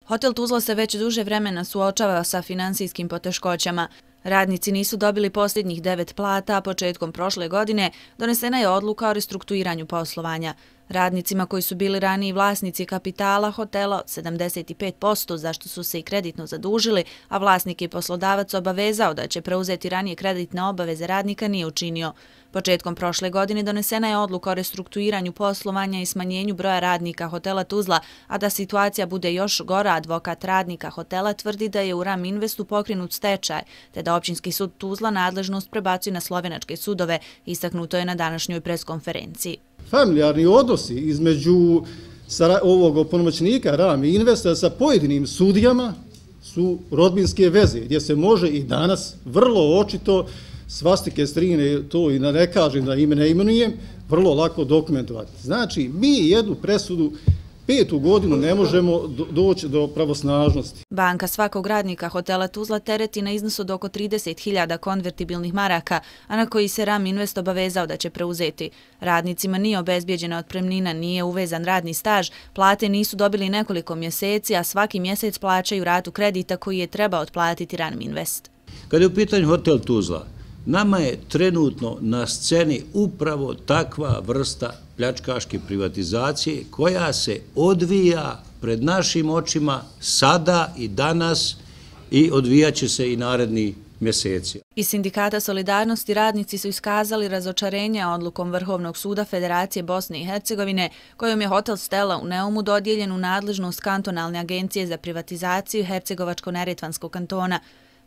Hotel Tuzla se već duže vremena suočava sa finansijskim poteškoćama. Radnici nisu dobili posljednjih 9 plata, a početkom prošle godine donesena je odluka o restrukturiranju poslovanja. Radnicima koji su bili raniji vlasnici kapitala hotela od 75%, zašto su se i kreditno zadužili, a vlasnik i poslodavac obavezao da će preuzeti ranije kreditne obaveze radnika, nije učinio. Početkom prošle godine donesena je odluka o restrukturiranju poslovanja i smanjenju broja radnika hotela Tuzla, a da situacija bude još gora, advokat radnika hotela tvrdi da je u RAM Investu pokrenut stečaj, te da općinski sud Tuzla nadležnost prebacuje na slovenačke sudove, istaknuto je na današnjoj preskonferenciji. Familijarni odnosi između ovog opunomoćenika RAM Investa sa pojedinim sudijama su rodbinske veze, gdje se može i danas vrlo očito svastike strine, to i ne kažem da ime ne imenujem, vrlo lako dokumentovati. Znači, mi jednu presudu 5. godinu ne možemo doći do pravosnažnosti. Banka svakog radnika hotela Tuzla tereti na iznos od oko 30.000 konvertibilnih maraka, a na koji se RAM Invest obavezao da će preuzeti. Radnicima nije obezbijeđena otpremnina, nije uvezan radni staž, plate nisu dobili nekoliko mjeseci, a svaki mjesec plaćaju ratu kredita koji je trebao otplatiti RAM Invest. Kada je u pitanju hotel Tuzla, nama je trenutno na sceni upravo takva vrsta pljačkaške privatizacije koja se odvija pred našim očima sada i danas i odvijaće se i naredni mjeseci. Iz Sindikata Solidarnosti radnici su iskazali razočarenje odlukom Vrhovnog suda Federacije Bosne i Hercegovine, kojom je hotel Stella u Neumu dodijeljen u nadležnost kantonalne agencije za privatizaciju Hercegovačko-Neretvanskog kantona.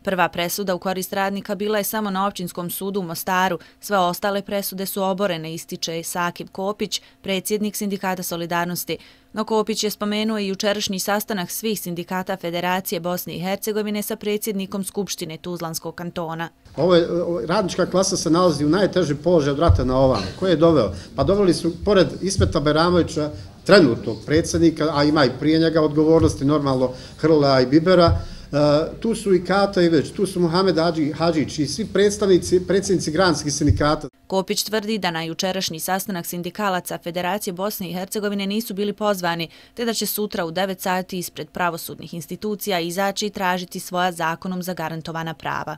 Prva presuda u korist radnika bila je samo na općinskom sudu u Mostaru, sve ostale presude su oborene, ističe Sakib Kopić, predsjednik Sindikata Solidarnosti. No Kopić je spomenuo i jučerašnji sastanak svih sindikata Federacije Bosne i Hercegovine sa predsjednikom Skupštine Tuzlanskog kantona. Radnička klasa se nalazi u najtežem položaju od rata na ovamo. Ko je doveo? Pa doveli su, pored Ismeta Bajramovića, trenutnog predsjednika, a ima i prije njega odgovornosti, normalno Hrla i Bibera, tu su i Kata i već, tu su Mohamed Hadžić i svi predsjednici granskih sindikata. Kopić tvrdi da na jučerašnji sastanak sindikalaca Federacije Bosne i Hercegovine nisu bili pozvani, te da će sutra u 9 sati ispred pravosudnih institucija izaći i tražiti svoja zakonom zagarantovana prava.